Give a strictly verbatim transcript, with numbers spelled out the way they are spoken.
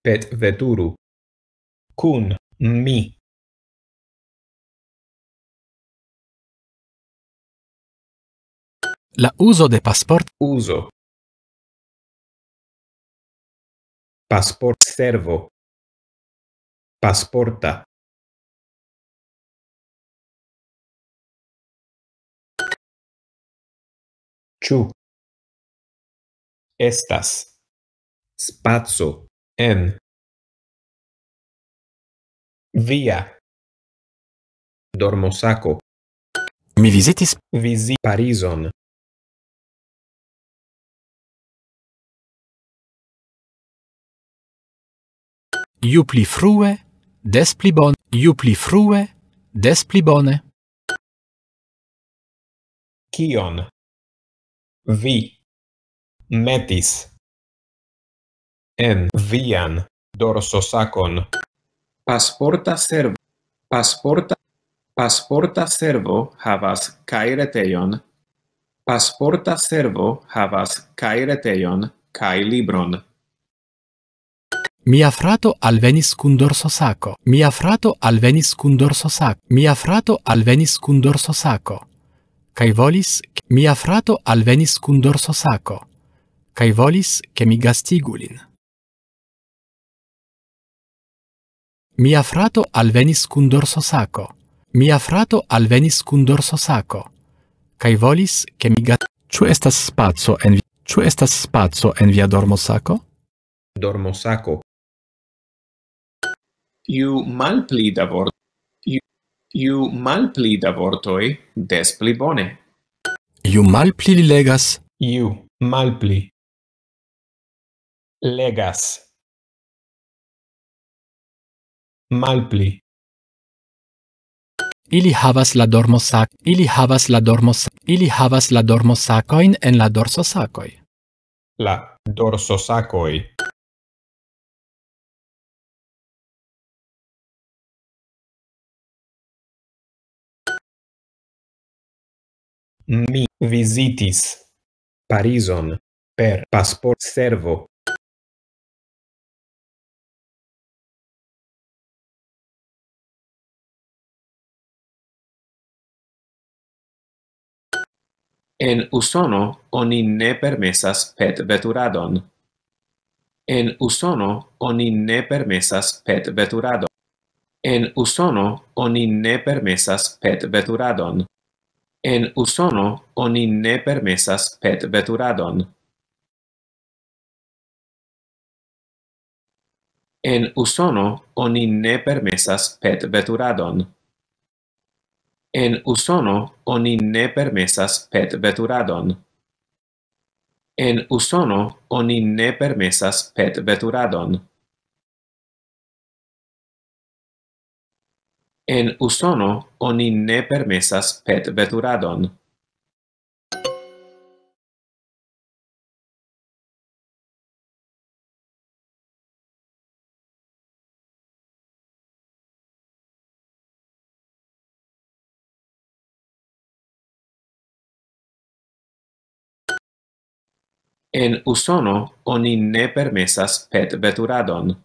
Petveturu. Kun mi. La uzo de pasport. Uzo. Pasportservo. Pasporta. Ĉu. Estas. Spaco. En. Via. Dormosako. Mi vizitis. Vizi Parizon. Ju pli frue, des pli bone. Ju pli frue, des pli bone. Kion vi metis en vian dorsosakon? Pasporta servo. Pasporta, pasporta servo havas kaj retejon. Pasporta servo havas kaj retejon kaj libron. Mia frato alvenis kun dorsosako. Mia frato alvenis kun dorsosako. Mia frato alvenis kun dorsosako. Kaj volis, mia frato alvenis kun dorsosako. Kaj volis, ke mi gastigu lin. Mia frato alvenis kun dorsosako. Mia frato alvenis kun dorsosako. Kaj volis, ke mi ga-, ĉu estas spaco en vi-, ĉu estas spaco en via dormosako? Dormosako. Ju malpli da vort-, ju, ju malpli da vortoj, des pli bone. Ju malpli li legas. Ju malpli. Legas. Malpli. Ili havas la dormosak-, ili havas la dormos-, ili havas la dormosakojn en la dorsosakoj. La dorsosakoj. Mi vizitis Parizon per pasportservo. En Usono oni ne permesas petveturadon. En Usono oni ne permesas petveturadon. En Usono oni ne permesas petveturadon. En Usono oni ne permesas petveturadon. En Usono oni ne permesas petveturadon. En Usono oni ne permesas petveturadon. En Usono oni ne permesas petveturadon. En Usono oni ne permesas petveturadon. En Usono oni ne permesas petveturadon.